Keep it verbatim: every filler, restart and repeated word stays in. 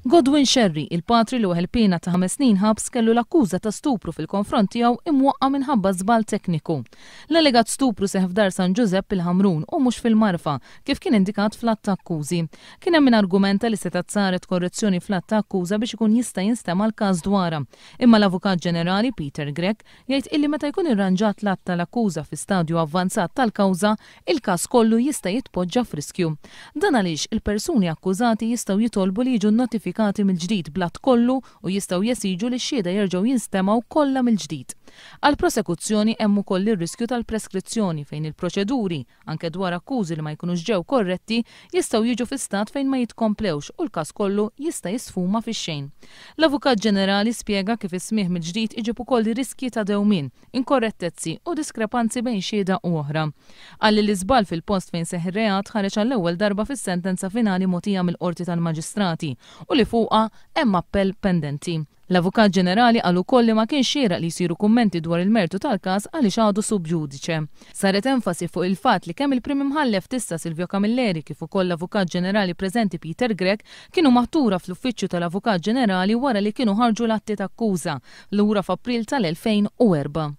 Godwin Scerri, il-patri li weħel piena ta' ħames snin ħabs, kellu l-akkuża ta' stupru fil-konfront tiegħu imwaqqa minħabba żball tekniku. L-allegat stupru seħħ f'Dar San Ġużepp il-Ħamrun u mhux fil-Marfa, kif kien indikat fl-att ta' akkużi. Kien hemm min argumenta li setgħet saret korrezzjoni fl-att ta' akkuża biex ikun jista' jinstema' l-każ dwarha. Imma l-Avukat Ġenerali Peter Grech jgħid illi meta jkun irranġat l-att tal-akkuża fi stadju avvanzat tal-kawża, il-każ kollu jista' jitpoġġa f'riskju. Dan għaliex il-persuni akkużati jistgħu jitolbu li jiġu notifikati mill-ġdid bl-att kollu u jistgħu jesiġu li x-xhieda jerġgħu jinstemgħu kollha mill-ġdid. Għall-prosekuzzjoni hemm ukoll ir-riskju tal-preskrizzjoni fejn il-proċeduri, anke dwar akkużi li ma jkunux ġew korretti, jistgħu jiġu fi stat fejn ma jitkomplewx u l-każ kollu jista' jisfuma fix-xejn. L-Avukat Ġenerali spjega kif is-smigħ mill-ġdid iġib ukoll riskji ta' dewmien, inkorrettezzi u diskrepanzi bejn xhieda u oħra. Qal li l-iżball fil-post fejn seħħ ir-reat ħareġ għall-ewwel darba fis-sentenza finali mogħtija mill-Qorti tal-Maġistrati u li fuqha hemm appell pendenti. L-Avukat Ġenerali qal ukoll li ma kienx xieraq li jsiru kummenti dwar il-mertu tal-każ għaliex għadu sub judice. Saret enfasi fuq il-fatt li kemm il-Prim Imħallef t'issa Silvio Camilleri kif ukoll l-Avukat Ġenerali preżenti Peter Grech kienu maħtura fl-Uffiċċju tal-Avukat Ġenerali wara li kienu ħarġu l-atti ta' akkuża lura f'April tal-elfejn u erbgħa.